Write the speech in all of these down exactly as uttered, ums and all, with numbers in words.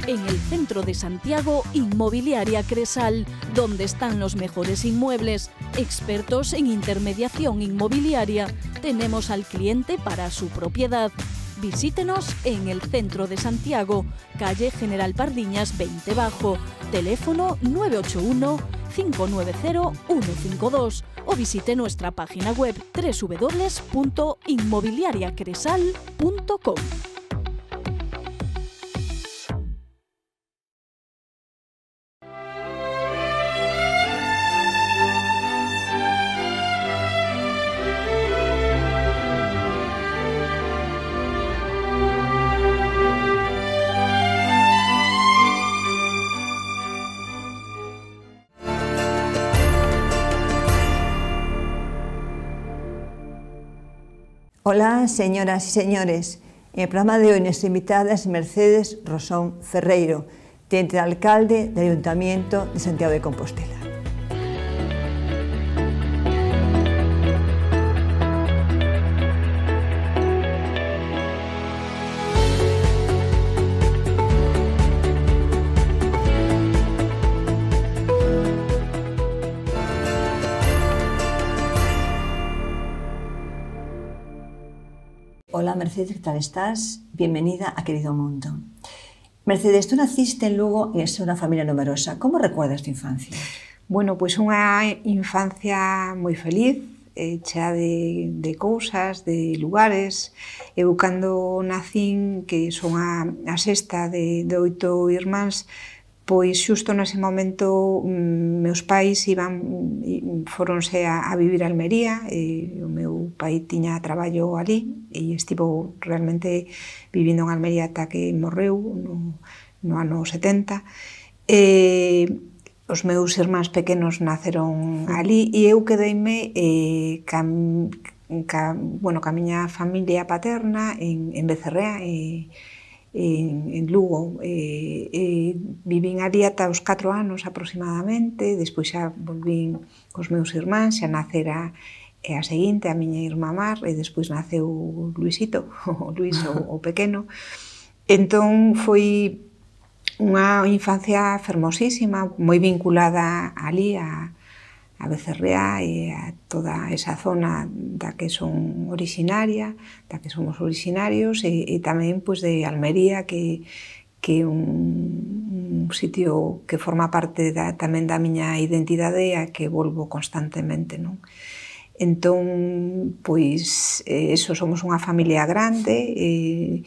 En el centro de Santiago, Inmobiliaria Cresal, donde están los mejores inmuebles. Expertos en intermediación inmobiliaria. Tenemos al cliente para su propiedad. Visítenos en el centro de Santiago, calle General Pardiñas veinte Bajo, teléfono nueve ocho uno, cinco nueve cero, uno cinco dos o visite nuestra página web doble u doble u doble u punto inmobiliaria cresal punto com. Hola, señoras y señores. En el programa de hoy nuestra invitada es Mercedes Rosón Ferreiro, teniente de alcalde del Ayuntamiento de Santiago de Compostela. Hola Mercedes, ¿qué tal estás? Bienvenida a Querido Mundo. Mercedes, tú naciste en Lugo y es una familia numerosa. ¿Cómo recuerdas tu infancia? Bueno, pois unha infancia moi feliz, eh, chea de, de cousas, de lugares. Eu cando nacín, que son a, a sexta de, de oito irmáns, pois xusto nese momento meus pais iban, foronse a, a vivir a Almería, e o meu pai tiña traballo ali e estivo realmente vivindo en Almería ata que morreu no, no ano setenta. E os meus irmáns pequenos naceron ali e eu quedeime eh, ca, ca, bueno, ca miña familia paterna en, en Becerrea e En, en Lugo. Eh, eh, vivín ali ata os catro anos aproximadamente, despois xa volvín cos meus irmáns, xa nacera a seguinte, a miña irmá Mar, e despois naceu Luisito, o Luis, o, o pequeno. Entón foi unha infancia fermosísima, moi vinculada ali a a Becerrea e a toda esa zona da que son originaria, da que somos originarios, e, e tamén pois, de Almería, que que é un, un sitio que forma parte da, tamén da miña identidade a que volvo constantemente, non? Entón, pois, eh, eso, somos unha familia grande, eh,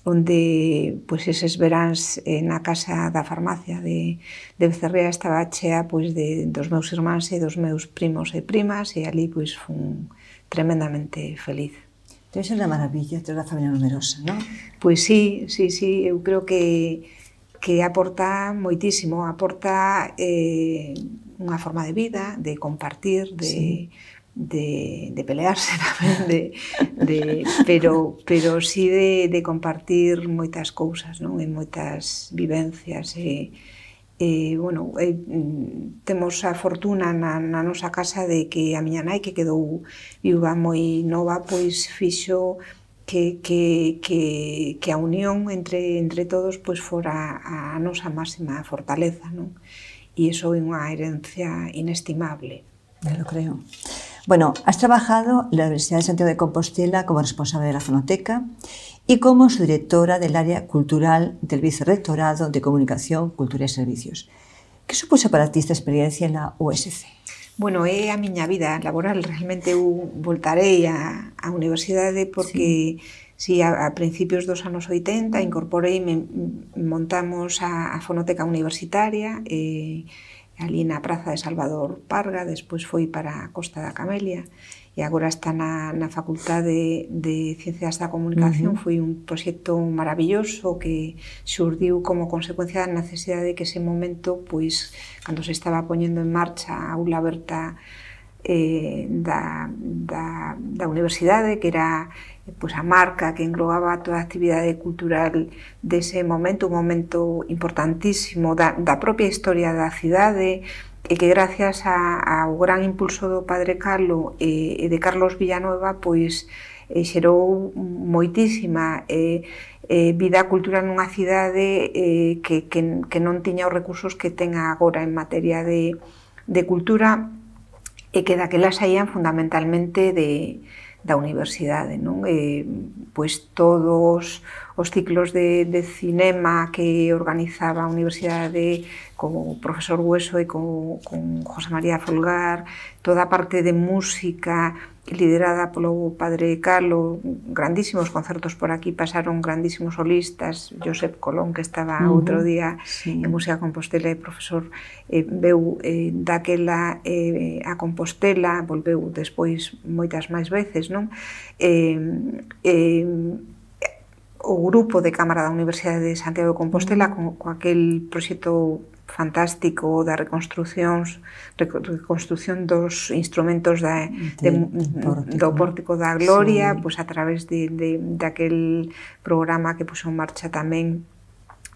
onde pois, eses veráns eh, na casa da farmacia de, de Becerrea estaba chea pois, de, dos meus irmáns e dos meus primos e primas, e ali pois, fun tremendamente feliz. Debe ser unha maravilla ter unha familia numerosa, non? Pois sí, sí, sí, eu creo que, que aporta moitísimo, aporta eh, unha forma de vida, de compartir, de... Sí. De, de pelearse tamén, de, de, pero, pero sí de, de compartir moitas cousas, non? E moitas vivencias. E, e, bueno, e, temos a fortuna na, na nosa casa de que a miña nai, que quedou viúva moi nova, pois fixo que, que, que, que a unión entre, entre todos pois fora a, a nosa máxima fortaleza, non? E iso é unha herencia inestimable. Ya lo creo. Bueno, has trabajado en la Universidad de Santiago de Compostela como responsable de la Fonoteca y como subdirectora del área cultural del Vicerrectorado de Comunicación, Cultura y Servicios. ¿Qué supuso para ti esta experiencia en la U S C? Bueno, é a miña vida laboral. Realmente eu voltarei á, á universidade porque sí. Si a, a principios dos anos oitenta incorporei, me, montamos a, a Fonoteca Universitaria, e ali na Praza de Salvador Parga, despois foi para a Costa da Camelia e agora está na, na Facultade de Ciencias da Comunicación. Uh-huh. Foi un proxecto maravilloso que xurdiu como consecuencia da necesidade que ese momento, pois, cando se estaba poñendo en marcha a aula aberta eh, da, da, da universidade, que era pois, a marca que englobaba toda a actividade cultural dese momento, un momento importantísimo da, da propia historia da cidade, e que gracias a, ao gran impulso do padre Carlo e, e de Carlos Villanueva, pois e xerou moitísima eh, eh, vida cultural nunha cidade eh, que, que, que non tiña os recursos que ten agora en materia de, de cultura, e que daquela saían fundamentalmente de, da universidade, non? Eh, pois todos os ciclos de, de cinema que organizaba a universidade con o profesor Hueso e con, con José María Folgar, toda a parte de música liderada polo padre Carlo, grandísimos concertos por aquí, pasaron grandísimos solistas, Josep Colón, que estaba uh-huh. outro día sí. en Música Compostela, e profesor eh, veu eh, daquela eh, a Compostela, volveu despois moitas máis veces, non? Eh, eh, o grupo de Cámara da Universidade de Santiago de Compostela con, con aquel proxecto fantástico da reconstrucción reconstrucción dos instrumentos da, de, de, do Pórtico da Gloria, sí. pois a través de, de, de aquel programa que puso en marcha tamén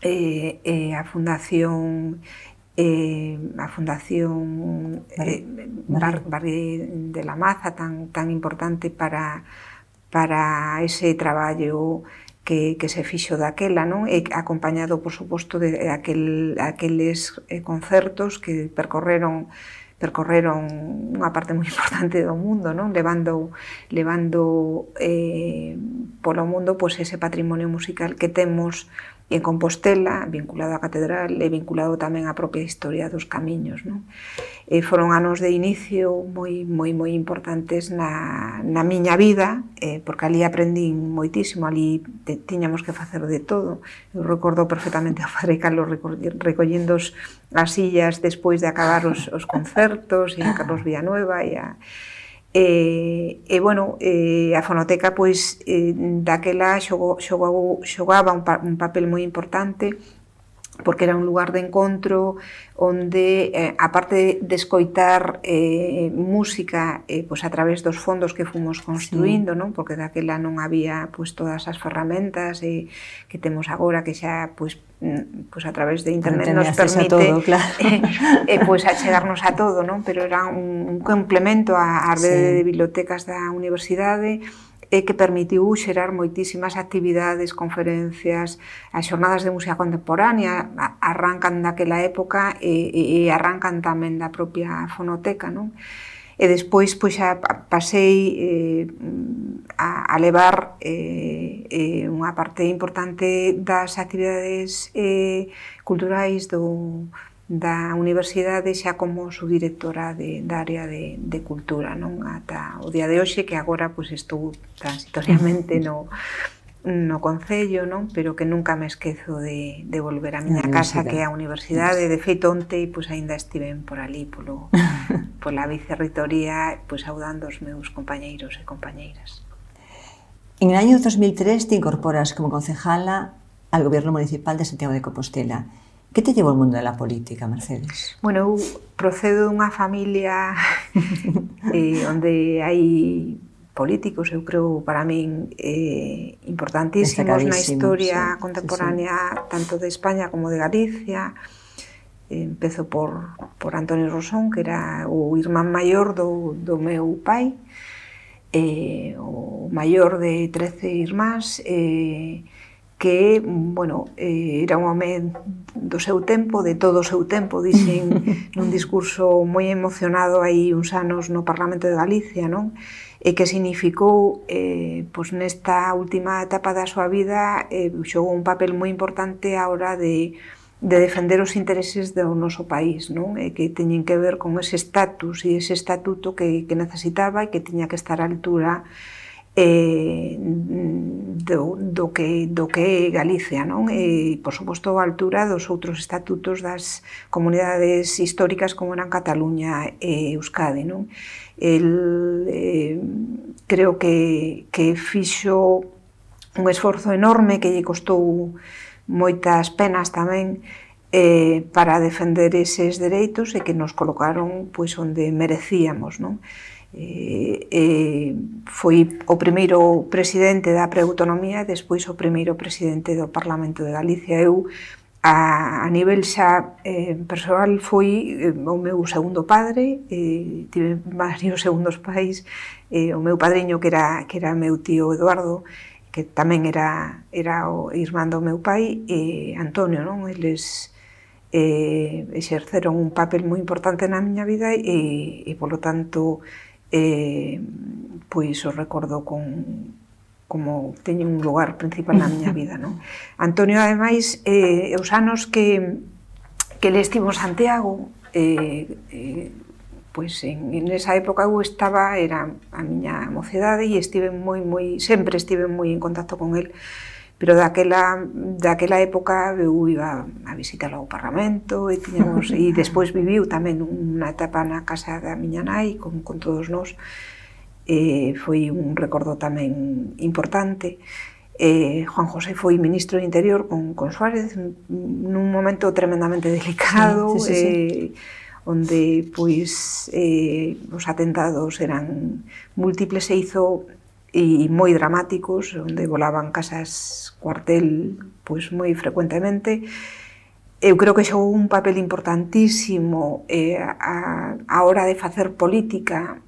eh, eh, a Fundación eh, a Fundación eh, Bar, Barri de la Maza, tan, tan importante para, para ese traballo que, que se fixo daquela, non? E acompañado, por suposto, de aquel, aqueles concertos que percorreron percorreron unha parte moi importante do mundo, non? Levando, levando eh, polo mundo pois, ese patrimonio musical que temos en Compostela, vinculado á catedral e vinculado tamén á propia historia dos camiños, non? E foron anos de inicio moi, moi, moi importantes na, na miña vida, eh, porque ali aprendín moitísimo, ali te, tiñamos que facer de todo. Eu recordo perfectamente ao padre Carlos recollendo as sillas despois de acabar os, os concertos, e a Carlos Villanueva, e a... E, e bueno, e a fonoteca pois eh, daquela xogou, xogou, xogaba un, pa, un papel moi importante, porque era un lugar de encontro onde, eh, aparte de escoitar eh, música eh, pois a través dos fondos que fomos construindo, sí. non? Porque daquela non había pois, todas as ferramentas eh, que temos agora, que xa pois, pois a través de internet nos permite todo, claro. eh, eh, pois achegarnos a todo, non? Pero era un, un complemento á, á rede sí. de bibliotecas da universidade, e que permitiu xerar moitísimas actividades, conferencias, as xornadas de música contemporánea arrancan daquela época e, e arrancan tamén da propia fonoteca, non? E despois pois, xa pasei eh, a, a levar eh, eh, unha parte importante das actividades eh, culturais do da universidade xa como subdirectora de, da área de, de cultura, non? Ata o día de hoxe, que agora pois, estou transitoriamente no, no Concello, non? Pero que nunca me esquezo de, de volver a miña casa, que é a universidade. De feito, onte pois, ainda estiven por ali, polo, pola vicerritoría, pois, saudando os meus compañeiros e compañeiras. En el año dos mil tres te incorporas como concejala al Gobierno Municipal de Santiago de Compostela. Que te llevou ao mundo da política, Mercedes? Bueno, eu procedo dunha familia eh, onde hai políticos, eu creo, para min, eh, importantísimos na historia sí, contemporánea, sí, sí. tanto de España como de Galicia. Eh, empezo por, por Antonio Rosón, que era o irmán maior do, do meu pai, eh, o maior de trece irmáns, eh, que, bueno, eh, era un home do seu tempo, de todo o seu tempo, dixen nun discurso moi emocionado hai uns anos no Parlamento de Galicia, non? E que significou, eh, pois nesta última etapa da súa vida, eh, xogou un papel moi importante á hora de, de defender os intereses do noso país, non? E que teñen que ver con ese estatus e ese estatuto que, que necesitaba e que tiña que estar á altura Eh, do, do, que, do que é Galicia, non? E, por suposto, a altura dos outros estatutos das comunidades históricas como eran Cataluña e Euskadi, non? El, eh, creo que, que fixo un esforzo enorme que lle costou moitas penas tamén eh, para defender eses dereitos e que nos colocaron pois, onde merecíamos, non? Eh, eh, foi o primeiro presidente da preautonomía e despois o primeiro presidente do Parlamento de Galicia. Eu A, a nivel xa eh, persoal foi eh, o meu segundo padre, eh, tive varios segundos pais, eh, o meu padriño que era, que era meu tío Eduardo, que tamén era, era o irmán do meu pai, e Antonio, non? Eles eh, exerceron un papel moi importante na miña vida e, e polo tanto, eh, pois o recordo con... como teñen un lugar principal na miña vida, non? Antonio, ademais, eh, os anos que, que ele estivo en Santiago, eh, eh, pois en, en esa época eu estaba, era a miña mocedade e estive moi, moi, sempre estive moi en contacto con el, pero daquela, daquela época eu iba a visitar ao Parlamento e tiñamos, e despois viviu tamén unha etapa na casa da miña nai con, con todos nós. Eh, foi un recordo tamén importante. Eh, Juan José foi ministro do Interior con, con Suárez nun momento tremendamente delicado, sí, sí, sí, sí. Eh, onde pois eh, os atentados eran múltiples e hizo e moi dramáticos, onde volaban casas cuartel pois moi frecuentemente. Eu creo que xogou un papel importantísimo eh, a, a hora de facer política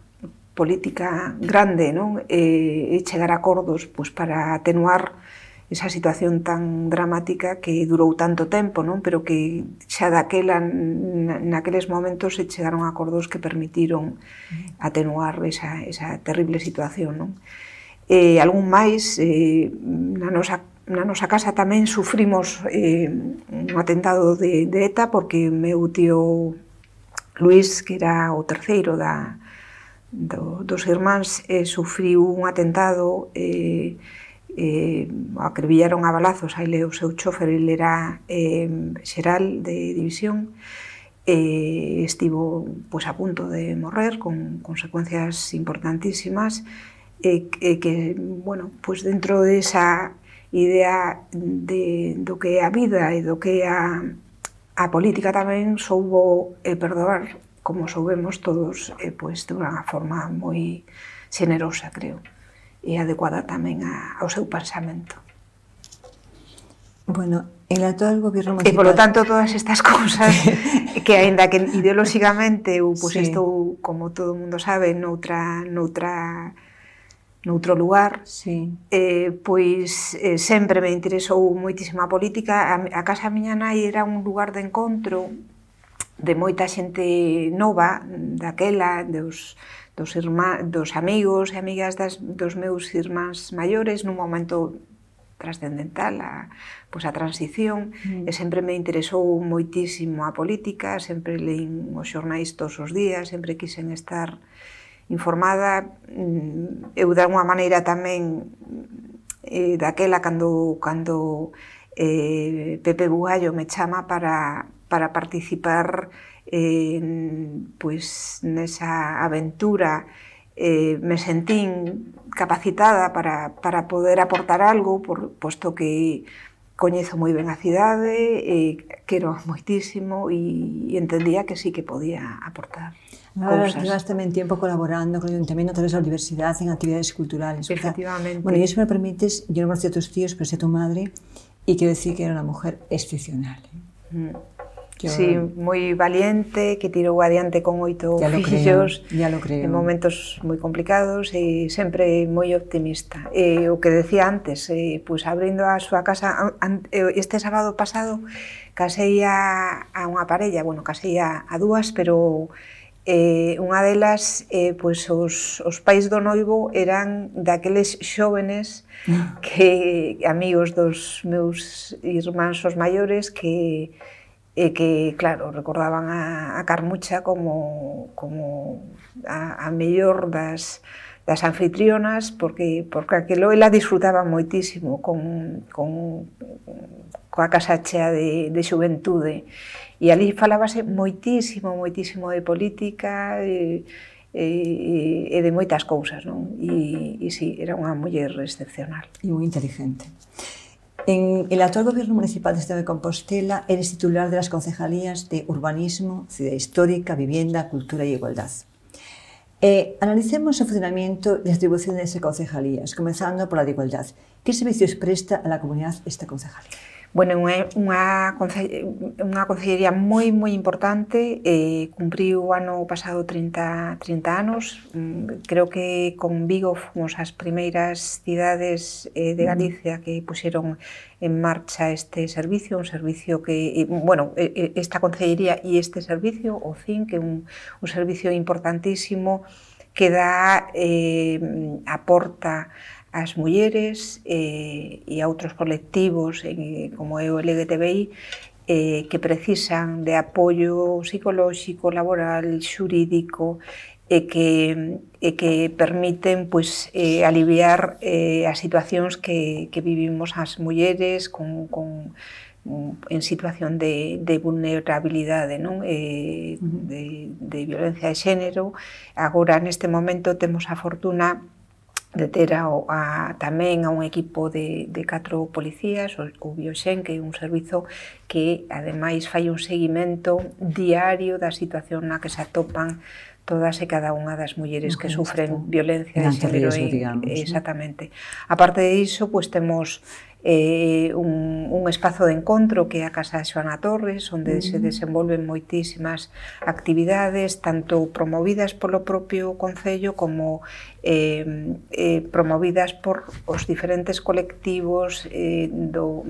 política grande, non? E, e chegar a acordos pois, para atenuar esa situación tan dramática que durou tanto tempo, non? Pero que xa daquela, naqueles momentos se chegaron a acordos que permitiron atenuar esa, esa terrible situación, non? E algún máis, eh, na nosa na nosa casa tamén sufrimos eh, un atentado de, de ETA porque o meu tío Luís, que era o terceiro da Do, dos irmáns, eh, sufriu un atentado, eh, eh, acribillaron a balazos a ele o seu chofer, ele era eh, xeral de división, eh, estivo pues, a punto de morrer con consecuencias importantísimas, eh, eh, que, bueno, pues dentro de esa idea de, do que é a vida e do que é a, a política tamén soubo eh, perdoar, como soubemos todos, eh, pues, de unha forma moi xenerosa, creo, e adecuada tamén a, ao seu pensamento. Bueno, el actual gobierno municipal... E, polo tanto, todas estas cousas, que aínda que ideolóxicamente, eu, pues, sí. Estou, como todo o mundo sabe, noutra, noutra, noutro lugar, sí. eh, pois eh, sempre me interesou moitísima política. A, a casa miña nai era un lugar de encontro de moita xente nova, daquela, dos, dos, irmá, dos amigos e amigas das, dos meus irmáns maiores, nun momento trascendental, a, pois a transición, mm. e sempre me interesou moitísimo a política, sempre leín os xornais todos os días, sempre quixen estar informada. Eu, de alguma maneira, tamén, eh, daquela, cando, cando eh, Pepe Bugallo me chama para... para participar eh, pues, nesa aventura, eh, me sentín capacitada para, para poder aportar algo, por, posto que coñezo moi ben a cidade, eh, quero moitísimo e, e entendía que sí que podía aportar cousas. Llevas tamén tiempo colaborando con o Ayuntamiento a través da universidade en actividades culturales. Efectivamente. Bueno, y eso me permites, yo no conocía a tus tíos, pero sé a tu madre, y quiero decir que era una mujer excepcional. ¿eh? Mm. Yo... Sí, moi valiente, que tirou adiante con oito fillos en momentos moi complicados e sempre moi optimista. E o que decía antes, eh, pues, abrindo a súa casa, este sábado pasado casei a, a unha parella, bueno, casei a, a dúas, pero eh, unha delas, eh, pues, os, os pais do noivo eran daqueles xóvenes que amigos dos meus irmáns os maiores que e que, claro, recordaban a, a Carmucha como, como a, a mellor das, das anfitrionas, porque, porque aquilo ela disfrutaba moitísimo con, con, coa casa chea de, de xuventude. E ali falábase moitísimo, moitísimo de política e, e, e de moitas cousas, non? E, e sí, era unha muller excepcional. E moi inteligente. En el actual Gobierno Municipal de Santiago de Compostela eres titular de las concejalías de Urbanismo, Ciudad Histórica, Vivienda, Cultura y Igualdad. Eh, analicemos el funcionamiento y las atribuciones de concejalías, comenzando por la de Igualdad. ¿Qué servicios presta a la comunidad esta concejalía? Bueno, é unha, unha concellería moi, moi importante, eh, cumpriu o ano pasado trinta, trinta anos, creo que con Vigo fomos as primeiras cidades eh, de Galicia que puxeron en marcha este servicio, un servicio que, bueno, esta concellería e este servicio, o C I N, que é un, un servicio importantísimo que dá, eh, aporta as mulleres eh, e a outros colectivos eh, como é o L G T B I eh, que precisan de apoio psicolóxico, laboral, xurídico e que, e que permiten pois, eh, aliviar eh, as situacións que, que vivimos as mulleres con, con, en situación de, de vulnerabilidade, non? Eh, de, de violencia de xénero. Agora, neste momento, temos a fortuna de ter a, a, tamén a un equipo de, de catro policías, o, o Bioxen, que é un servizo que, ademais, fai un seguimento diario da situación na que se atopan todas e cada unha das mulleres que sufren violencia de xénero. Exactamente. A parte de iso, pois temos eh, un, un espazo de encontro que é a Casa de Xoana Torres, onde uh -huh. se desenvolven moitísimas actividades, tanto promovidas polo propio Concello como eh, eh, promovidas por os diferentes colectivos eh, do,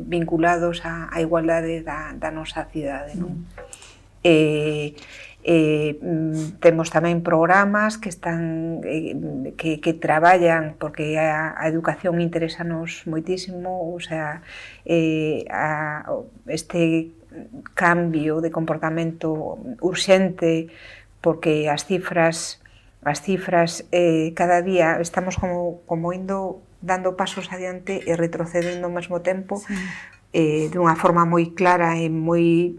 vinculados á, á igualdade da, da nosa cidade. Non? Uh -huh. eh, Eh, temos tamén programas que están eh, que, que traballan porque a, a educación interesanos moitísimo, o sea, eh, a, este cambio de comportamento urxente porque as cifras as cifras eh, cada día estamos como, como indo dando pasos adiante e retrocedendo ao mesmo tempo, sí. eh, dunha forma moi clara e moi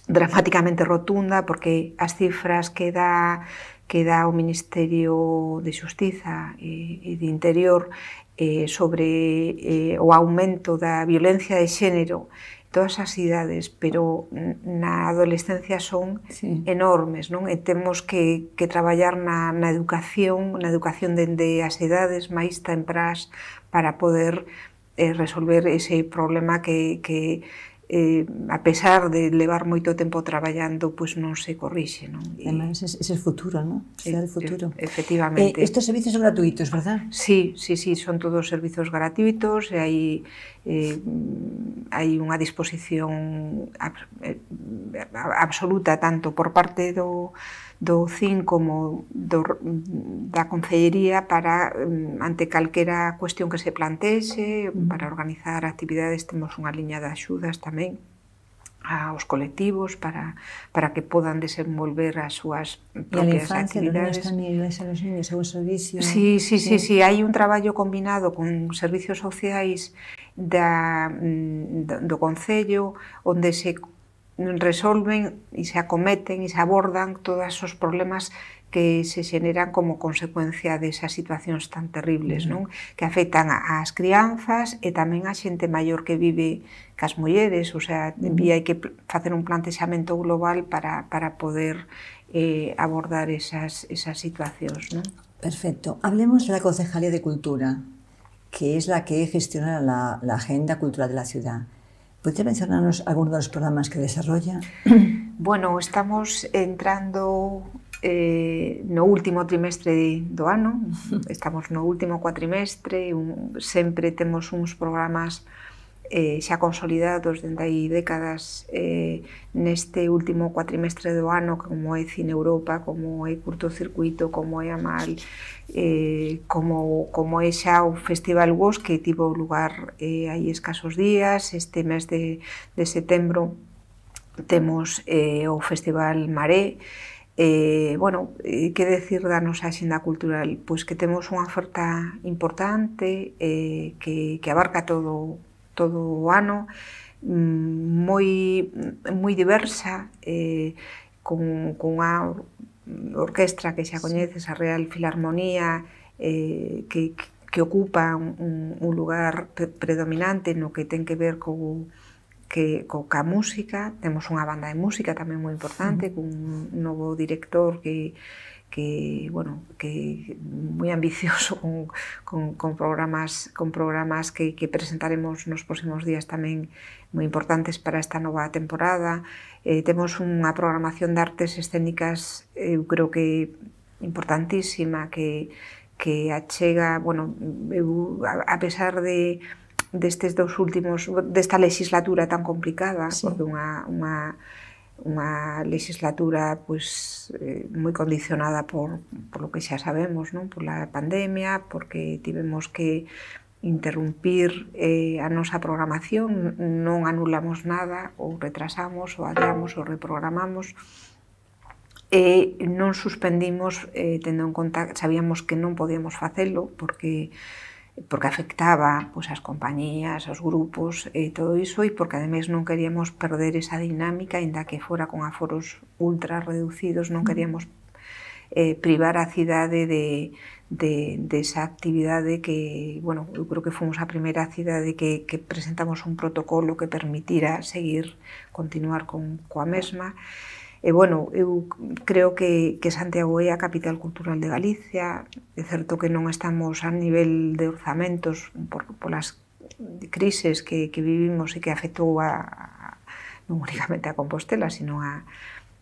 dramáticamente rotunda, porque as cifras que dá, que dá o Ministerio de Xustiza e, e de Interior eh, sobre eh, o aumento da violencia de xénero en todas as cidades, pero na adolescencia son sí. enormes, non? E temos que, que traballar na, na educación, na educación dende as idades máis temprás para poder eh, resolver ese problema que, que Eh, a pesar de levar moito tempo traballando, pois non se corrixe, non? E, además, ese é o futuro, non? Cidade futuro. Efectivamente. Eh, estes servicios son gratuitos, verdad? Sí, sí, sí, son todos servizos gratuitos e hai, eh, hai unha disposición ab, eh, absoluta tanto por parte do do C I N como do, da Concellería para, ante calquera cuestión que se plantexe, para organizar actividades. Temos unha liña de axudas tamén aos colectivos para, para que podan desenvolver as súas propias actividades. E a infancia, tamén, a los niños, a un servicio... Sí, sí, sí, sí, hai un traballo combinado con servicios sociais da, do Concello onde se resolven e se acometen e se abordan todos os problemas que se xeneran como consecuencia desas situacións tan terribles, non? Que afectan ás crianzas e tamén a xente maior que vive cas mulleres, o sea, hai que facer un plantexamento global para, para poder eh, abordar esas, esas situacións, non? Perfecto. Hablemos de la Concejalía de Cultura, que es la que gestiona la, la agenda cultural de la ciudad. ¿Podría mencionarnos algunos de los programas que desarrolla? Bueno, estamos entrando eh, no último trimestre do ano, estamos no último cuatrimestre, un, sempre temos uns programas eh, xa consolidados dende aí décadas eh, neste último cuatrimestre do ano, como é Cine Europa, como é Curtocircuito, como é Amal, eh, como, como é xa o Festival Gos, que tivo lugar eh, hai escasos días. Este mes de, de setembro temos eh, o Festival Maré. Eh, bueno, eh, que decir da nosa axenda cultural? Pois que temos unha oferta importante eh, que, que abarca todo todo o ano, moi, moi diversa, eh, con, con unha orquestra que xa coñeces, a Real Filarmonía, eh, que, que ocupa un, un lugar predominante no que ten que ver co, que, co ca música. Temos unha banda de música tamén moi importante, con un novo director que que, bueno, que moi ambicioso con, con, con programas, con programas que, que presentaremos nos próximos días tamén moi importantes para esta nova temporada. Eh, temos unha programación de artes escénicas, eu creo que importantísima, que, que achega, bueno, eu, a, a pesar de destes dos últimos, desta legislatura tan complicada, sí. Porque unha, unha, unha legislatura pues, eh, moi condicionada por, por lo que xa sabemos, non? Por la pandemia, porque tivemos que interrumpir eh, a nosa programación, non anulamos nada, ou retrasamos, ou adiamos, ou reprogramamos, e non suspendimos, eh, tendo en conta, sabíamos que non podíamos facelo, porque porque afectaba pois, as compañías, os grupos e todo iso, e porque ademais non queríamos perder esa dinámica, ainda que fora con aforos ultra reducidos, non queríamos eh, privar a cidade de, de, de esa actividade que, bueno, eu creo que fomos a primeira cidade que, que presentamos un protocolo que permitira seguir, continuar con, coa mesma. E, bueno, eu creo que, que Santiago é a capital cultural de Galicia. É certo que non estamos a nivel de orzamentos por, por as crises que, que vivimos e que afectou a, a, non únicamente a Compostela, sino a,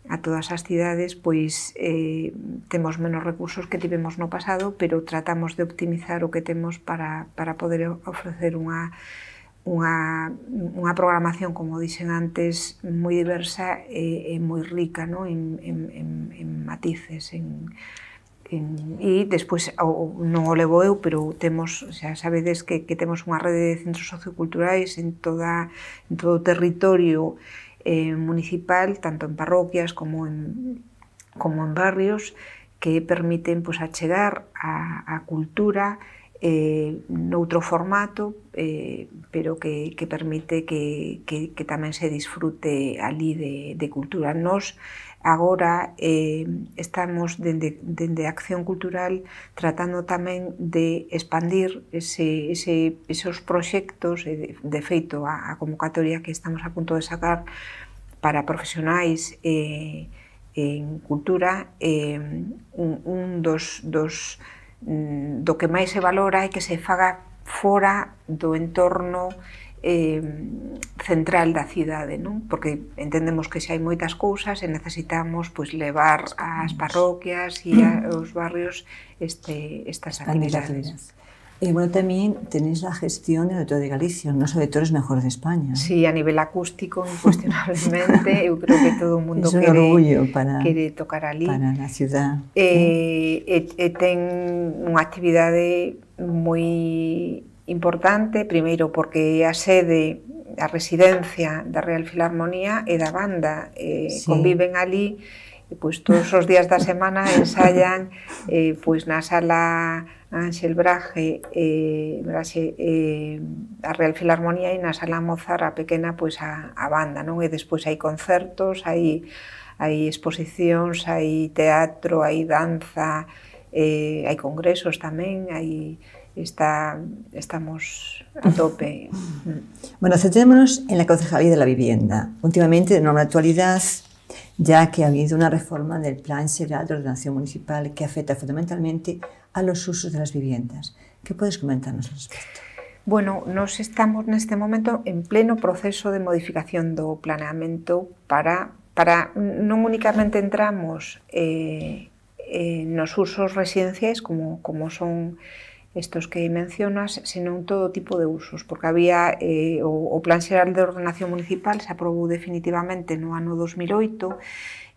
a todas as cidades, pois eh, temos menos recursos que tivemos no pasado, pero tratamos de optimizar o que temos para, para poder ofrecer unha Unha, unha programación, como dixen antes, moi diversa e, e moi rica, no? en, en, en, en matices. En, en, e despois, o, non o levo eu, pero temos, xa sabedes que, que temos unha rede de centros socioculturais en, toda, en todo o territorio eh, municipal, tanto en parroquias como en, como en barrios, que permiten pues, achegar a, a cultura eh, noutro formato, eh, pero que, que permite que, que, que tamén se disfrute ali de, de cultura. Nos agora eh, estamos dende, dende Acción Cultural tratando tamén de expandir ese, ese, esos proxectos, e de, de feito a, a convocatoria que estamos a punto de sacar para profesionais eh, en cultura, eh, un, un dos, dos do que máis se valora é que se faga fora do entorno eh, central da cidade, non? Porque entendemos que xa hai moitas cousas e necesitamos pois, levar ás parroquias e aos barrios este, estas actividades. E, bueno, tamén tenéis a gestión do Auditorio de Galicia, nos auditores mejores de España. Sí, a nivel acústico, incuestionablemente, eu creo que todo o mundo quere, para, quere tocar ali. Para a ciudad. E, e, e ten unha actividade moi importante, primeiro porque a sede, a residencia da Real Filarmonía e da banda eh, sí. Conviven ali, e pois todos os días da semana ensayan eh, pois na sala Ángel Braje, eh, Braxe, eh, a Real Filarmonía, e na sala Mozart a pequena pois a, a banda, non? E despois hai concertos, hai, hai exposicións, hai teatro, hai danza, eh, hai congresos tamén, hai está, estamos a tope. Bueno, centrémonos en la Concejalía de la Vivienda. Últimamente, de enorme actualidad, ya que ha habido una reforma del Plan Xeral de Ordenación Municipal que afecta fundamentalmente a los usos de las viviendas. ¿Qué puedes comentarnos al respecto? Bueno, nos estamos neste momento en pleno proceso de modificación do planeamento para, para non únicamente entramos eh, eh, nos usos residenciais como, como son estos que mencionas, sino en todo tipo de usos, porque había eh, o, o Plan Xeral de Ordenación Municipal se aprobou definitivamente no ano dos mil oito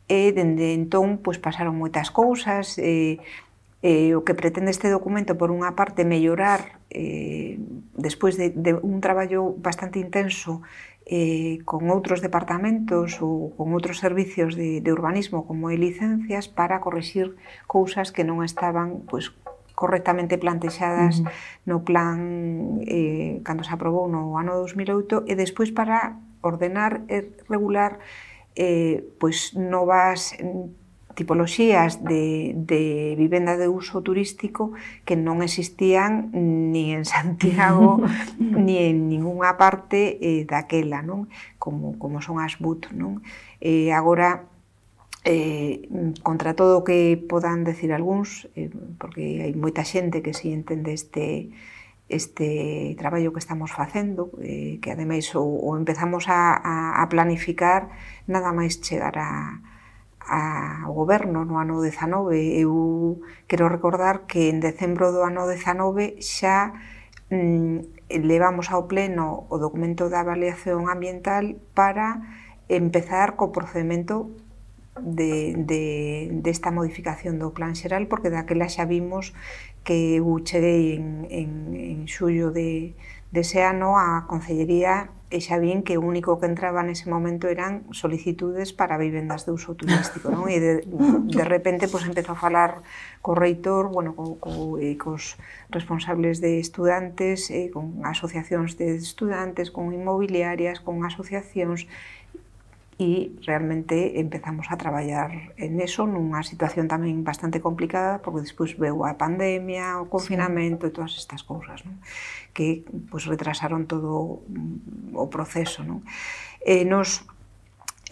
e dende entón pues, pasaron moitas cousas. Eh, eh, o que pretende este documento, por unha parte, mellorar eh, despois de, de un traballo bastante intenso eh, con outros departamentos ou con outros servicios de, de urbanismo como e licencias para corrixir cousas que non estaban pues, correctamente plantexadas uh-huh. no plan eh, cando se aprobou no ano dos mil oito e despois para ordenar e regular eh, pois novas tipoloxías de, de vivenda de uso turístico que non existían ni en Santiago ni en ninguna parte eh, daquela, non? Como, como son as B U T, non? Eh, agora, eh, contra todo o que podan decir algúns, eh, porque hai moita xente que si entende este, este traballo que estamos facendo, eh, que ademais o, o empezamos a, a, a planificar nada máis chegar a, a, ao goberno no ano dezanove. Eu quero recordar que en decembro do ano dezanove xa mm, levamos ao pleno o documento de avaliación ambiental para empezar co procedimento de, de, desta modificación do plan xeral, porque daquela xa vimos que eu cheguei en, en, en xullo de, dese ano á Concellería e xa vin que o único que entraba nese momento eran solicitudes para vivendas de uso turístico, non? E de, de repente pues, empezou a falar co reitor, bueno, co, co, eh, cos responsables de estudantes, eh, con asociacións de estudantes, con inmobiliarias, con asociacións, e realmente empezamos a traballar en eso nunha situación tamén bastante complicada, porque despois veu a pandemia, o confinamento e todas estas cousas, non? Que pues, retrasaron todo o proceso, non? Eh, nos,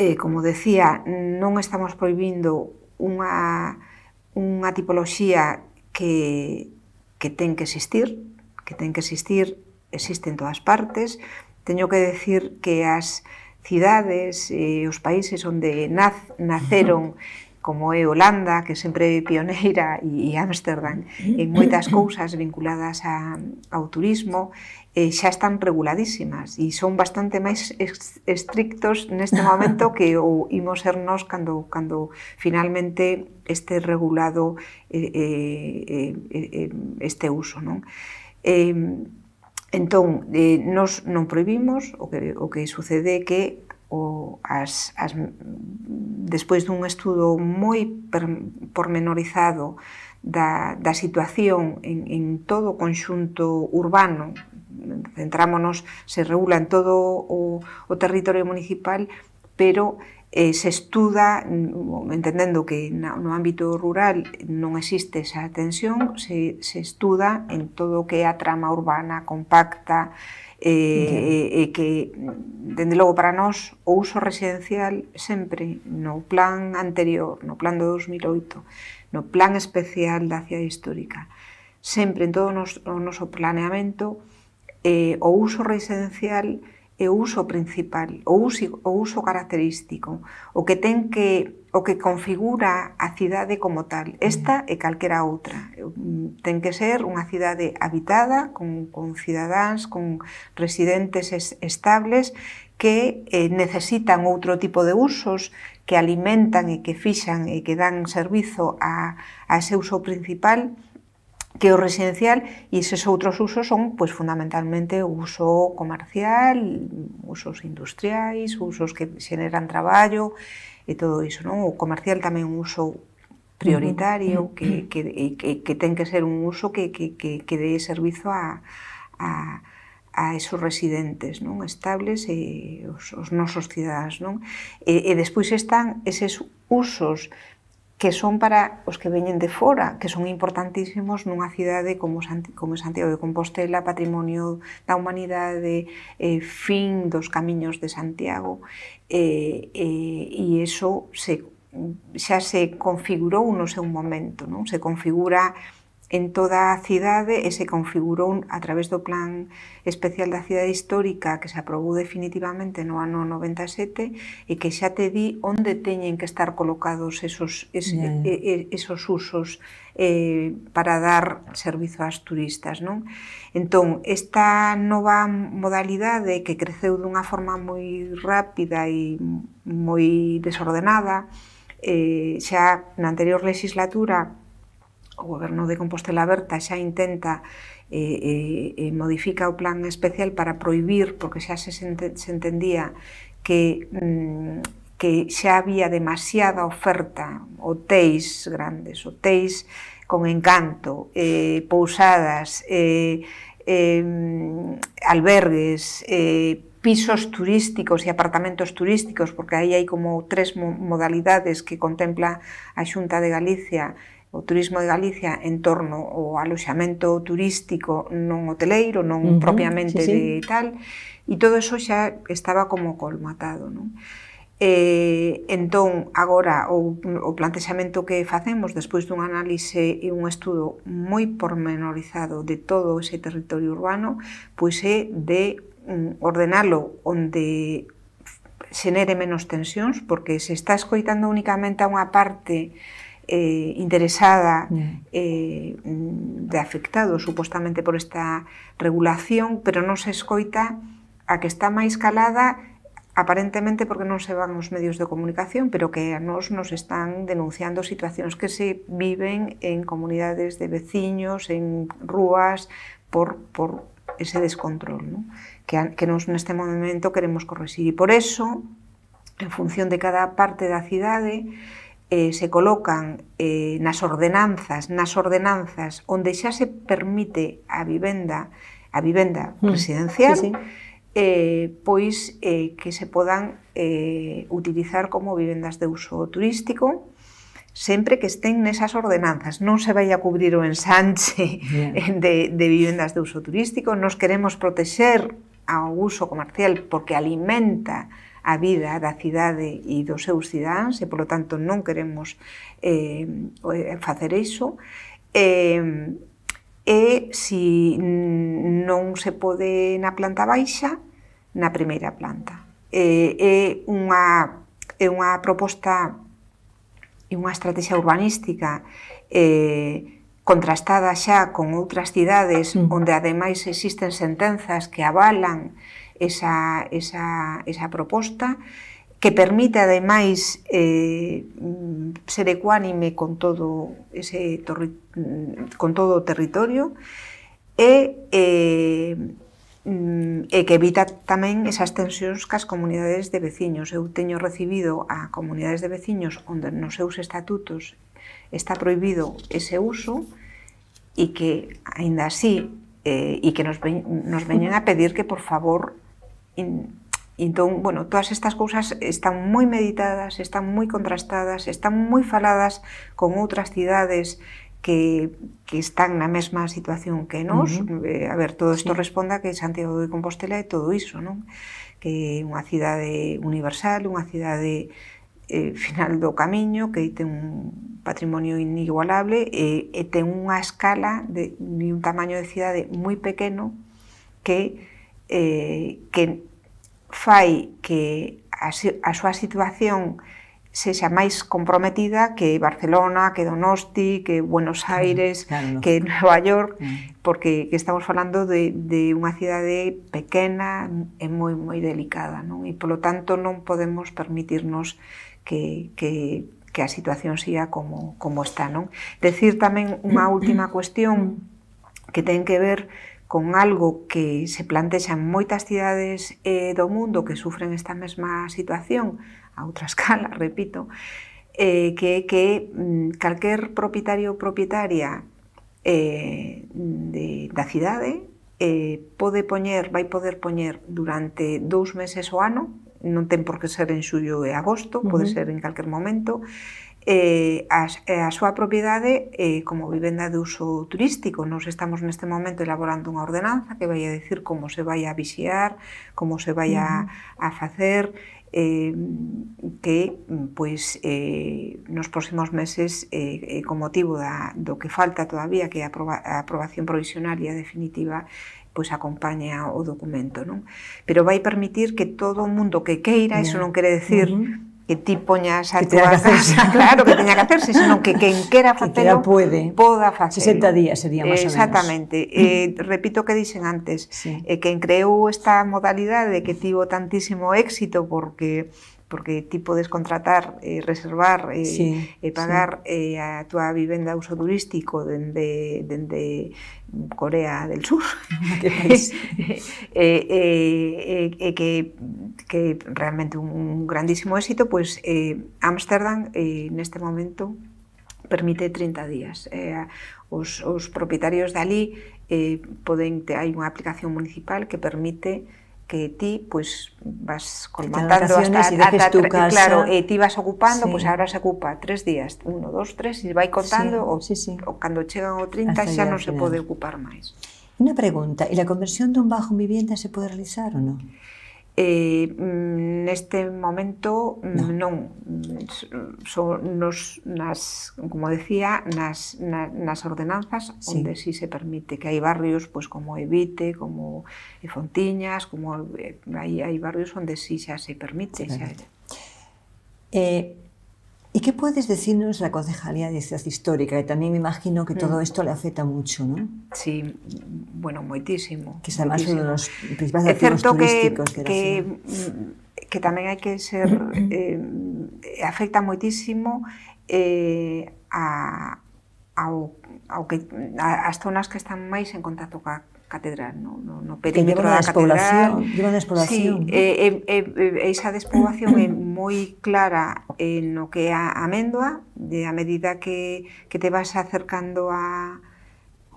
eh, como decía, non estamos prohibindo unha, unha tipoloxía que, que ten que existir, que ten que existir, existe en todas partes. Teño que decir que as cidades e eh, os países onde naz, naceron, como é Holanda, que sempre é pioneira, e, e Ámsterdam, en moitas cousas vinculadas a, ao turismo, eh, xa están reguladísimas e son bastante máis estrictos neste momento que o imos ser nós cando, cando finalmente este regulado eh, eh, eh, este uso, non? Eh, Entón, eh, nos non prohibimos, o que, o que sucede é que o, as, as, despois dun estudo moi per, pormenorizado da, da situación en, en todo o conxunto urbano, centrámonos, se regula en todo o, o territorio municipal, pero eh, se estuda, entendendo que no ámbito rural non existe esa tensión, se, se estuda en todo o que é a trama urbana compacta, e eh, eh, que, dende logo, para nós, o uso residencial sempre no plan anterior, no plan do dos mil oito, no plan especial da cidade histórica, sempre en todo o noso, o noso planeamento, eh, o uso residencial é o uso principal, o uso, o uso característico, o que ten que o que configura a cidade como tal. Esta e calquera outra. Ten que ser unha cidade habitada, con, con cidadáns, con residentes es, estables, que eh, necesitan outro tipo de usos, que alimentan e que fixan e que dan servizo a, a ese uso principal, que o residencial, e eses outros usos son, pues, fundamentalmente, o uso comercial, usos industriais, usos que xeneran traballo e todo iso, non? O comercial tamén un uso prioritario, que, que, que, que ten que ser un uso que, que, que, que dé servizo a, a, a esos residentes, non? Estables e os, os nosos cidadáns, non? E, e despois están eses usos que son para os que veñen de fora, que son importantísimos nunha cidade como, como Santiago de Compostela, patrimonio da humanidade, eh, fin dos camiños de Santiago, eh, eh, e iso se, xa se configurou no seu momento, non? Se configura en toda a cidade e se configurou a través do plan especial da cidade histórica que se aprobou definitivamente no ano noventa e sete e que xa te di onde teñen que estar colocados esos, es, yeah, yeah. esos usos eh, para dar servizo ás turistas, non? Entón, esta nova modalidade que creceu dunha forma moi rápida e moi desordenada, eh, xa na anterior legislatura o Goberno de Compostela Aberta xa intenta eh, eh, modifica o plan especial para prohibir, porque xa se, se entendía que, mm, que xa había demasiada oferta, hotéis grandes, hotéis con encanto, eh, pousadas, eh, eh, albergues, eh, pisos turísticos e apartamentos turísticos, porque aí hai como tres modalidades que contempla a Xunta de Galicia, o turismo de Galicia en torno ao aloxamento turístico non hoteleiro, non uh-huh, propiamente sí, sí. de tal, e todo eso xa estaba como colmatado, non? Eh, entón, agora, o, o plantexamento que facemos despois dun análise e un estudo moi pormenorizado de todo ese territorio urbano, pois é de um, ordenalo onde xenere menos tensións, porque se está escoitando únicamente a unha parte eh, interesada eh, de afectado supostamente por esta regulación, pero non se escoita a que está máis calada aparentemente porque non se van os medios de comunicación, pero que a nos nos están denunciando situacións que se viven en comunidades de veciños, en rúas, por, por ese descontrol, ¿no? que, que nos neste momento queremos corrixir. E por eso, en función de cada parte da cidade, eh, se colocan eh, nas ordenanzas, nas ordenanzas onde xa se permite a vivenda, a vivenda residencial, sí, sí. Eh, pois eh, que se podan eh, utilizar como vivendas de uso turístico, sempre que estén nesas ordenanzas. Non se vai a cubrir o ensanche yeah. de, de vivendas de uso turístico. Nos queremos protexer ao uso comercial porque alimenta a vida da cidade e dos seus cidáns e, polo tanto, non queremos eh, facer iso. Eh, e, se non se pode na planta baixa, na primeira planta. É, é, unha, é unha proposta e unha estrategia urbanística eh, contrastada xa con outras cidades mm. onde ademais existen sentenzas que avalan esa, esa, esa proposta, que permite ademais eh, ser ecuánime con todo ese con todo o territorio e eh, e que evita tamén esas tensións cas comunidades de veciños. Eu teño recibido a comunidades de veciños onde nos seus estatutos está prohibido ese uso e que, aínda así, eh, e que nos, ve, nos veñen a pedir que, por favor, in, entón, bueno, todas estas cousas están moi meditadas, están moi contrastadas, están moi faladas con outras cidades que, que están na mesma situación que nós. Uh-huh. eh, a ver, todo isto sí. responda que Santiago de Compostela é todo iso, non? Que é unha cidade universal, unha cidade eh, final do camiño, que ten un patrimonio inigualable e, e ten unha escala de, de un tamaño de cidade moi pequeno que, eh, que fai que a, a súa situación sexa máis comprometida que Barcelona, que Donosti, que Buenos Aires, claro, claro. que Nova York, mm. porque que estamos falando de, de unha cidade pequena e moi moi delicada, non? E polo tanto non podemos permitirnos que, que, que a situación siga como, como está, non? Decir tamén unha última cuestión que ten que ver con algo que se plantexa en moitas cidades eh, do mundo que sufren esta mesma situación, a outra escala, repito, eh, que é que mm, calquer propietario ou propietaria eh, de, da cidade eh, pode poñer, vai poder poñer durante dous meses o ano, non ten por que ser en xullo e agosto, uh-huh. pode ser en calquer momento, eh, a, a súa propiedade eh, como vivenda de uso turístico. Nos estamos neste momento elaborando unha ordenanza que vai a decir como se vai a vixiar, como se vai a, a facer, eh, que pois, eh, nos próximos meses, eh, con motivo da, do que falta todavía, que é a, aproba, a aprobación provisional e definitiva, pois acompaña o documento, non? Pero vai permitir que todo o mundo que queira, iso non quere decir uh-huh. que ti poñas a tua casa, claro, que teña que hacerse, senón que quen quera facelo poda facelo. sesenta días sería máis ou menos. Exactamente. Eh, repito o que dixen antes, sí. eh, quen creou esta modalidade que tivo tantísimo éxito porque porque ti podes contratar, eh, reservar e eh, sí, eh, pagar sí. eh, a túa vivenda de uso turístico dende, dende Corea del Sur. Que país. eh, eh, eh, que, que realmente un grandísimo éxito, pois eh, Ámsterdam eh, neste momento permite trinta días. Eh, os, os propietarios de ali eh, poden, hai unha aplicación municipal que permite que ti pois vas colmatando hasta, hasta tu casa. Claro, e ti vas ocupando, sí. pois agora se ocupa tres días, uno, dos, tres, e vai contando, sí, o, sí, sí. o cando chegan o trinta hasta xa non se pode ocupar máis. Unha pregunta, e a conversión dun bajo en vivienda se pode realizar ou non? Eh, neste momento no. non, son nos, nas, como decía, nas, na, nas ordenanzas sí. onde si sí se permite, que hai barrios pois, como Evite, como Fontiñas, como hai, hai barrios onde si sí xa se permite. Sí, xa. Eh, ¿Y qué puedes decirnos de la Concejalía de Ciudad Histórica? Que también me imagino que todo esto le afecta mucho, ¿no? Sí, bueno, moitísimo. Que es además moitísimo. uno de los principales activos turísticos que, de la que, ciudad. Que tamén hai que ser... Eh, afecta moitísimo eh, a, ao, ao que, a, as zonas que están máis en contacto ca catedral, no, no, no perímetro da catedral. Lleva una despoblación, sí, ¿no? e, e, e, esa despoblación é moi clara en no que é a Améndoa, de a medida que, que te vas acercando a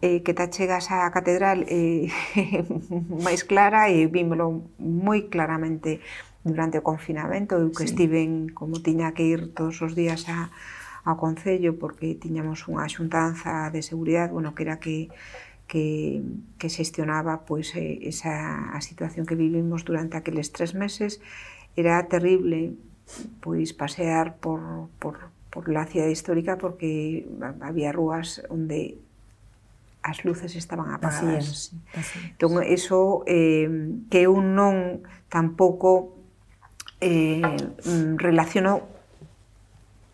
eh, que te chegas á catedral eh, máis clara, e vímolo moi claramente durante o confinamento, eu que sí. estiven, como tiña que ir todos os días a, ao Concello, porque tiñamos unha xuntanza de seguridade, bueno, que era que que, que xestionaba pois, esa a situación que vivimos durante aqueles tres meses. Era terrible pois, pasear por, por, por la cidade histórica, porque había rúas onde as luces estaban apagadas. Así es, así es. Entón, eso eh, que eu non tampouco eh, relaciono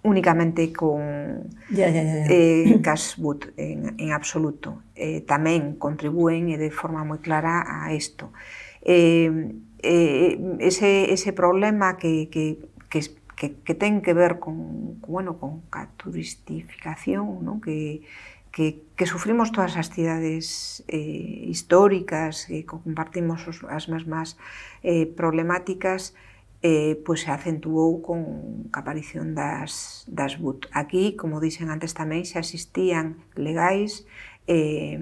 únicamente con ya, ya, ya, ya. Eh, Casbut en, en absoluto. Eh, tamén contribúen e de forma moi clara a isto. Eh, eh, ese, ese problema que, que, que, que, que ten que ver con, bueno, con a turistificación, ¿no? que, que, que sufrimos todas as cidades eh, históricas, que compartimos os, as mesmas eh, problemáticas, Eh, pois se acentuou con a aparición das, das B U T. Aquí, como dixen antes tamén, xa existían legais eh,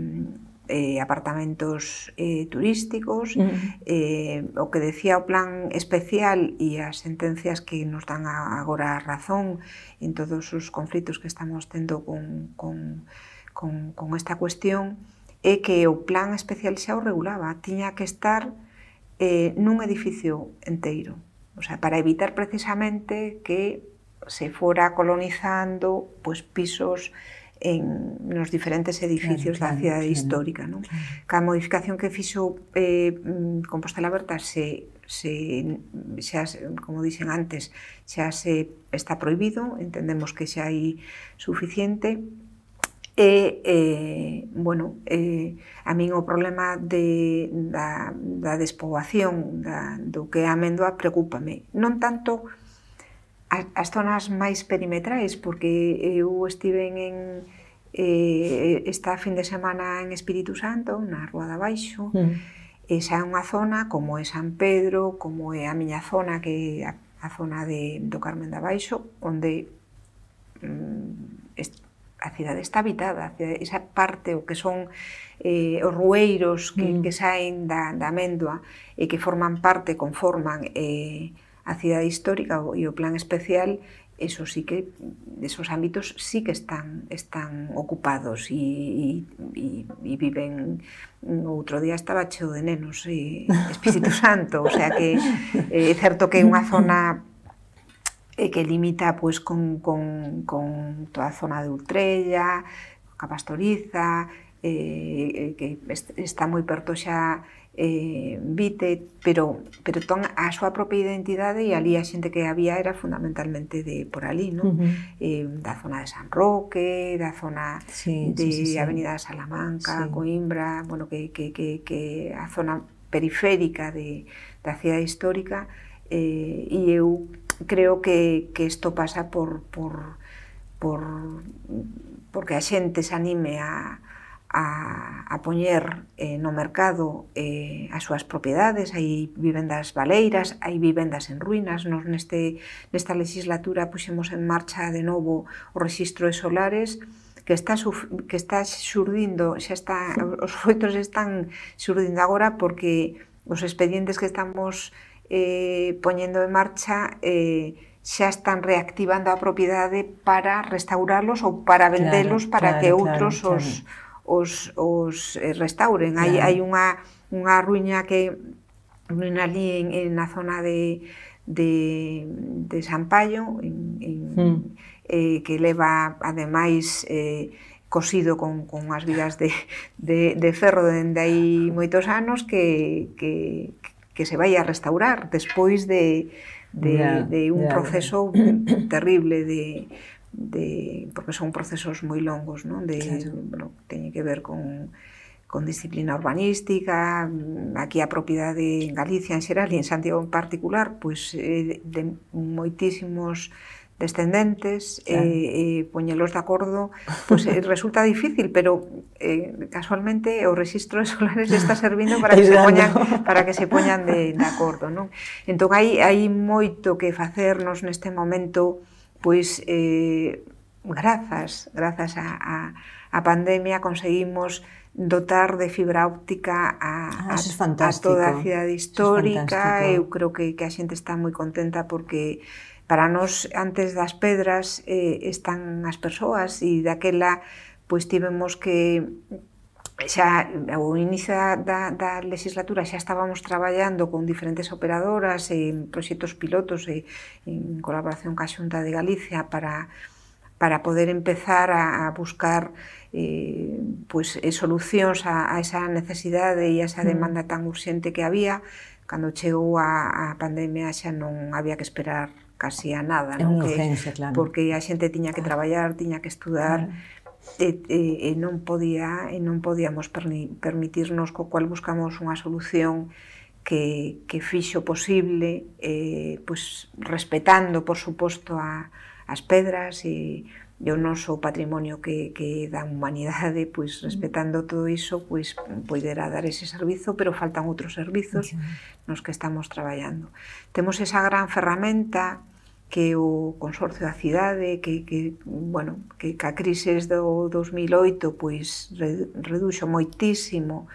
eh, apartamentos eh, turísticos, uh-huh. eh, o que decía o plan especial e as sentencias que nos dan agora a razón en todos os conflitos que estamos tendo con, con, con, con esta cuestión, é que o plan especial xa o regulaba, tiña que estar eh, nun edificio enteiro. O sea, para evitar precisamente que se fora colonizando pues, pisos en nos diferentes edificios claro, da cidade claro, histórica. ¿No? Claro. Ca modificación que fixo eh, Compostela Aberta se, se, xa, como dixen antes, xa se está prohibido, entendemos que xa hai suficiente. E, eh, bueno, eh, a min o problema de, da, da despoboación da, do que é a Améndoa preocúpame. Non tanto as, as zonas máis perimetrais, porque eu estive en eh, esta fin de semana en Espírito Santo, na Rúa de Abaixo, mm. esa é unha zona como é San Pedro, como é a miña zona, que é a, a zona de, do Carmen de Abaixo, onde mm, est, a cidade está habitada, esa parte, o que son eh, os rueiros que, mm. que saen da, da Améndoa e que forman parte, conforman eh, a cidade histórica e o plan especial, eso sí que, esos ámbitos sí que están, están ocupados e, e, e viven. Outro día estaba cheo de nenos e Espírito Santo, o sea que é eh, certo que é unha zona e que limita pois, con, con, con toda a zona de Ultrella, a Pastoriza, eh, que está moi perto xa eh, Vite, pero, pero ton a súa propia identidade, e ali a xente que había era fundamentalmente de por ali, ¿no? Uh-huh. eh, da zona de San Roque, da zona sí, de sí, sí, sí. Avenida de Salamanca, sí. Coimbra, bueno, que, que, que, que a zona periférica de, da cidade histórica, eh, e eu creo que, que isto pasa por, por, por porque a xente se anime a, a, a poñer eh, no mercado eh, as súas propiedades. Hai vivendas baleiras, hai vivendas en ruínas. Nos neste, nesta legislatura puxemos en marcha de novo o rexistro de solares, que está, que está xurdindo, xa está, os foitos están xurdindo agora, porque os expedientes que estamos Eh, poñendo en marcha eh, xa están reactivando a propiedade para restaurarlos ou para vendelos, claro, para claro, que outros claro, os, claro. os, os eh, restauren. Claro. Hai, hai unha, unha ruína que, ali en, en na zona de, de, de San Paio, en, en, mm. eh, que leva, ademais, eh, cosido con, con as vigas de, de, de ferro dende aí moitos anos, que, que, que se vai a restaurar despois de, de, yeah, de un yeah, proceso yeah. terrible de, de, porque son procesos moi longos, non? De, claro. Bueno, teñe que ver con, con disciplina urbanística, aquí a propiedade en Galicia en xeral e en Santiago en particular, pois eh, de moitísimos descendentes, claro. eh, eh, poñelos de acordo, pues, eh, resulta difícil, pero eh, casualmente o rexistro de solares está servindo para que se poñan, para que se poñan de, de acordo, non? Entón, hai, hai moito que facernos neste momento, pois, eh, grazas, grazas a, a, a pandemia conseguimos dotar de fibra óptica a, ah, a, a toda a cidade histórica. Eu creo que, que a xente está moi contenta porque para nós, antes das pedras, eh, están as persoas e daquela, pois tivemos que, xa ao inicio da, da legislatura xa estábamos traballando con diferentes operadoras en proxectos pilotos e en colaboración ca Xunta de Galicia para, para poder empezar a, a buscar eh, pois, eh, solucións a, a esa necesidade e a esa demanda tan urxente que había. Cando chegou a, a pandemia xa non había que esperar casi a nada, non? Que, urgencia, claro. Porque a xente tiña que traballar, tiña que estudar, claro. e, e, e non podía e non podíamos permitirnos, co cual buscamos unha solución que, que fixo posible, eh, pues, respetando, por suposto, a, as pedras e, e o noso patrimonio que, que da humanidade, pues, respetando todo iso, pues, poderá dar ese servizo, pero faltan outros servizos nos que estamos traballando. Temos esa gran ferramenta que o Consorcio da Cidade, que, que, bueno, que ca crisis do dos mil oito pois, reduxo moitísimo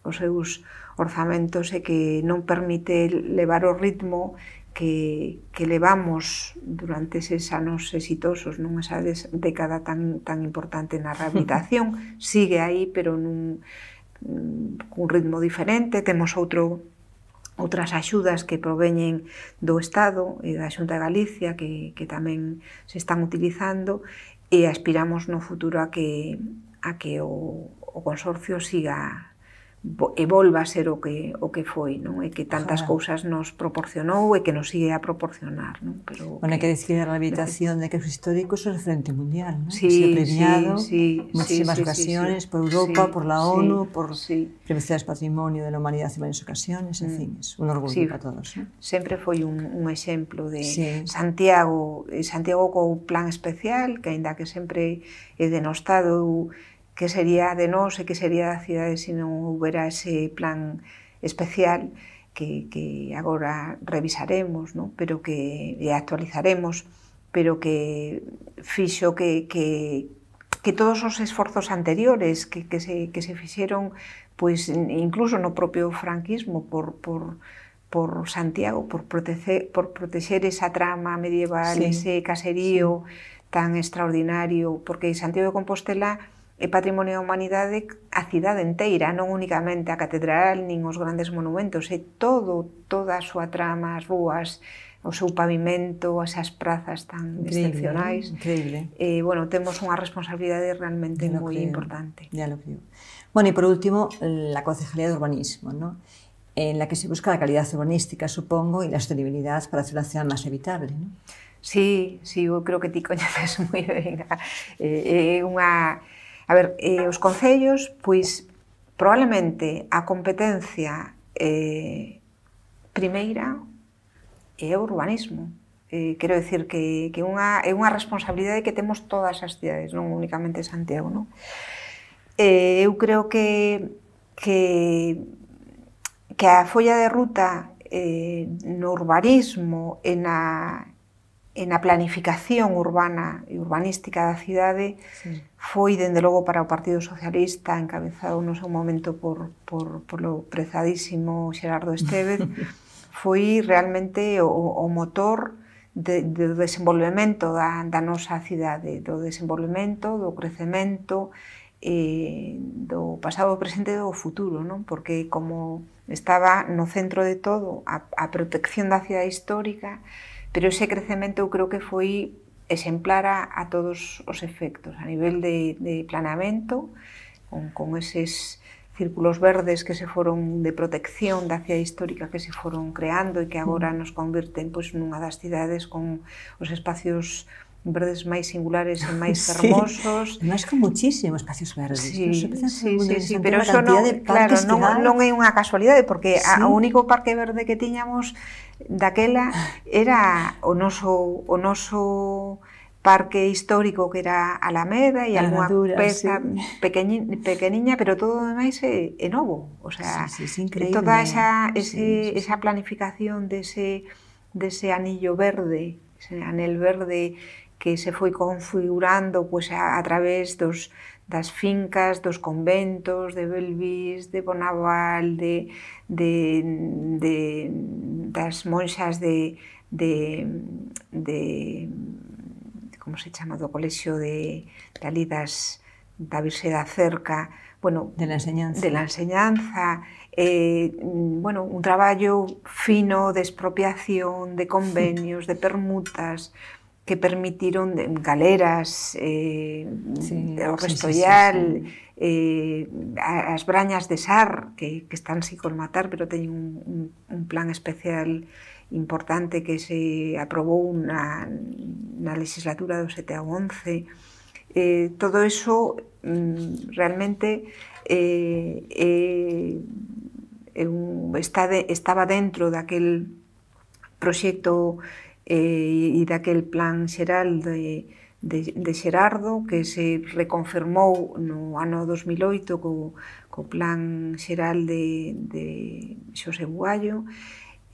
os seus orzamentos e que non permite levar o ritmo que, que levamos durante eses anos exitosos, non esa década tan, tan importante na rehabilitación. Sigue aí, pero nun, cun ritmo diferente. Temos outro outras axudas que proveñen do Estado e da Xunta de Galicia que, que tamén se están utilizando e aspiramos no futuro a que, a que o, o Consorcio siga e volva a ser o que, o que foi, non? E que tantas Ojalá. cousas nos proporcionou e que nos sigue a proporcionar, non? Pero bueno, hai que decir a rehabilitación de quesos históricos é referente mundial, non? Sí, se ha premiado sí, sí, muchísimas sí, ocasiones sí, sí, por Europa, sí, por la sí, ONU, por sí. Prevención del Patrimonio de la Humanidad en varias ocasiones, en mm. fin, es un orgullo sí, para todos, ¿no? Sempre foi un, un exemplo de sí. Santiago, Santiago co plan especial, que aínda que sempre é denostado que sería de nós e que sería da cidade se non houbera ese plan especial que, que agora revisaremos, ¿no? Pero que e actualizaremos, pero que fixo que, que, que todos os esforzos anteriores que, que, se, que se fixeron, pois, incluso no propio franquismo, por, por, por Santiago, por proteger, por protexer esa trama medieval, sí. ese caserío sí. tan extraordinario, porque Santiago de Compostela é patrimonio da humanidade a cidade inteira, non únicamente a catedral, nin os grandes monumentos, é todo, toda a súa trama, as rúas, o seu pavimento, esas prazas tan increíble, excepcionais. Increíble. Eh, bueno, temos unha responsabilidade realmente moi creo, importante. Ya lo creo. Bueno, y por último, la Concejalía de Urbanismo, ¿no? En la que se busca la calidad urbanística, supongo, y la sostenibilidad para hacer una ciudad más habitable, ¿no? Sí, sí, eu creo que ti coñeces moi ben. É eh, unha... A ver, eh, os concellos, pois, probablemente a competencia eh, primeira é o urbanismo. Eh, quero dicir que, que unha, é unha responsabilidade que temos todas as cidades, non únicamente Santiago, non? Eh, eu creo que, que, que a folla de ruta eh, no urbanismo e na, e na planificación urbana e urbanística da cidade sí. foi, dende logo, para o Partido Socialista, encabezado no seu momento por, por, polo prezadísimo Xerardo Estévez, foi realmente o, o motor de, de, do desenvolvemento da, da nosa cidade, do desenvolvemento, do crecemento, eh, do pasado, do presente e do futuro, non? Porque como estaba no centro de todo a, a protección da cidade histórica, pero ese crecemento eu creo que foi exemplar a, a todos os efectos, a nivel de, de planeamento, con, con eses círculos verdes que se foron de protección da cidade histórica que se foron creando e que agora nos convirten pois, nunha das cidades con os espacios verdes máis singulares e máis hermosos. Sí, máis con muchísimos espacios verdes. Sí, no sí, sí, sí, pero eso non, claro, non, non é unha casualidade, porque sí. O único parque verde que tiñamos daquela era o noso, o noso parque histórico que era Alameda e algunha peza sí. pequeñi, pequeniña, pero todo o demais é, é novo. O sea, sí, sí, sí, toda esa, ese, sí, sí, esa planificación dese, dese anillo verde, ese anel verde que se foi configurando pues, a, a través dos, das fincas, dos conventos, de Belvis, de Bonaval, de, de, de, das monxas de, de, de como se chama, do colexio de, de ali das, da Virxe da Cerca, bueno, de la enseñanza, de la enseñanza eh, bueno, un traballo fino de expropiación, de convenios, de permutas, que permitiron galeras, eh, sí, o Restollal, sí, sí, sí. Eh, as brañas de Sar, que, que están sin colmatar, pero teñen un, un, un plan especial importante que se aprobou na, na legislatura do sete ao once. Eh, todo eso mm, realmente eh, eh, está de, estaba dentro daquel proxecto eh, e daquel plan xeral de, de, de Xerardo que se reconfirmou no ano dos mil oito co, co plan xeral de, de Xosé Bugallo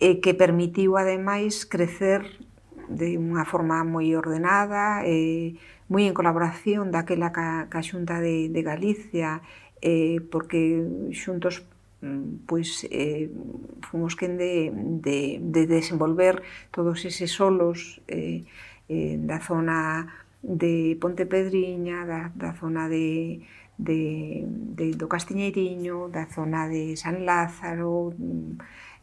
e que permitiu ademais crecer de unha forma moi ordenada e moi en colaboración daquela ca, ca Xunta de, de Galicia eh, porque xuntos pois eh, fomos quen de, de, de desenvolver todos eses solos eh, eh, da zona de Ponte Pedriña, da, da zona de, de, de, do Castiñeiriño, da zona de San Lázaro,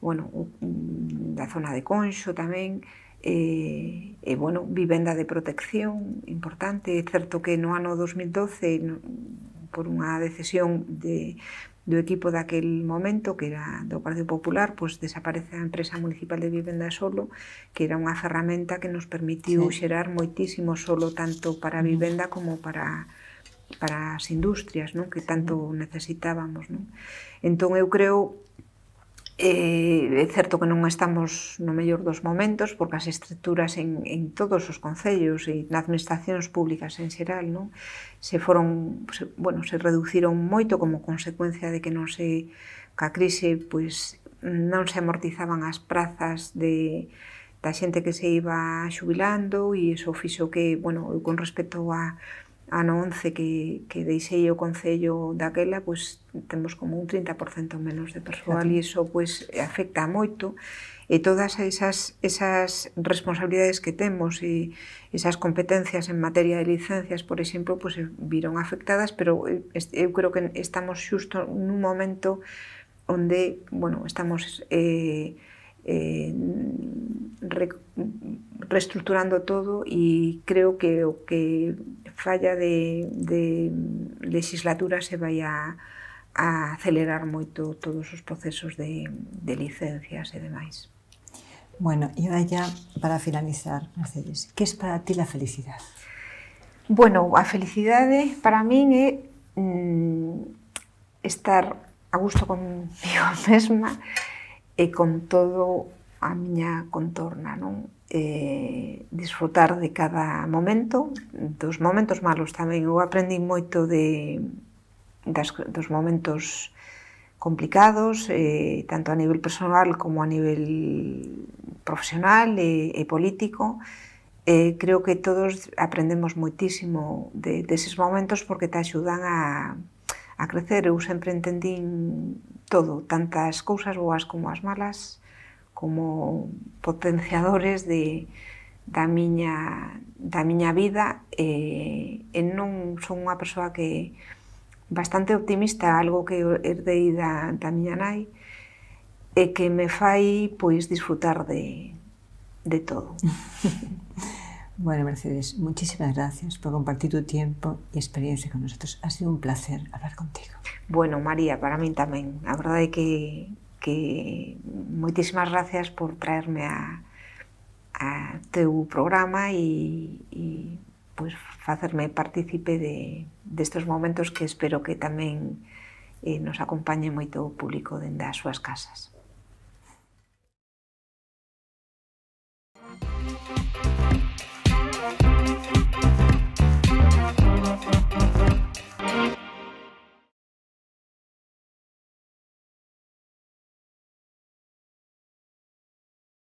bueno, da zona de Conxo tamén, e, e bueno, vivenda de protección importante. É certo que no ano dos mil doce, no, por unha decisión de do equipo daquel momento, que era do Partido Popular, pois desaparece a empresa municipal de vivenda solo, que era unha ferramenta que nos permitiu sí. xerar moitísimo solo tanto para a vivenda como para, para as industrias, non? Que tanto necesitábamos. Non? Entón eu creo, eh, é certo que non estamos no mellor dos momentos, porque as estruturas en, en todos os concellos e nas administracións públicas en xeral, non? se foron, se, bueno, se reduciron moito como consecuencia de que non se, ca crise, pois non se amortizaban as prazas de, da xente que se iba xubilando e iso fixo que, bueno, eu con respecto a ano once que, que deixei o concello daquela, pois temos como un trinta por cento menos de persoal e iso pois afecta moito e todas esas, esas responsabilidades que temos e esas competencias en materia de licencias, por exemplo, pois viron afectadas, pero eu creo que estamos xusto nun momento onde, bueno, estamos eh, eh, re, reestructurando todo e creo que o que falla de, de legislatura se vai a, a acelerar moito todos os procesos de, de licencias e demais. Bueno, e ahora ya para finalizar, Mercedes, que es para ti la felicidade? Bueno, a felicidade para min é mm, estar a gusto conmigo mesma e con todo a miña contorna, non? Eh, disfrutar de cada momento, dos momentos malos tamén. Eu aprendi moito de, das, dos momentos complicados, eh, tanto a nivel personal como a nivel profesional e, e político. Eh, creo que todos aprendemos moitísimo de, deses momentos porque te axudan a, a crecer. Eu sempre entendín todo, tantas cousas boas como as malas, como potenciadores de, da, miña, da miña vida e, e non son unha persoa que bastante optimista, algo que herdei da, da miña nai, e que me fai pois disfrutar de, de todo. Bueno, Mercedes, muchísimas gracias por compartir tu tiempo y experiencia con nosotros. Ha sido un placer hablar contigo. Bueno, María, para min tamén. A verdade é que, que moitísimas gracias por traerme a, a teu programa e, e pues, facerme partícipe de, destes momentos que espero que tamén eh, nos acompañe moito o público dende as súas casas.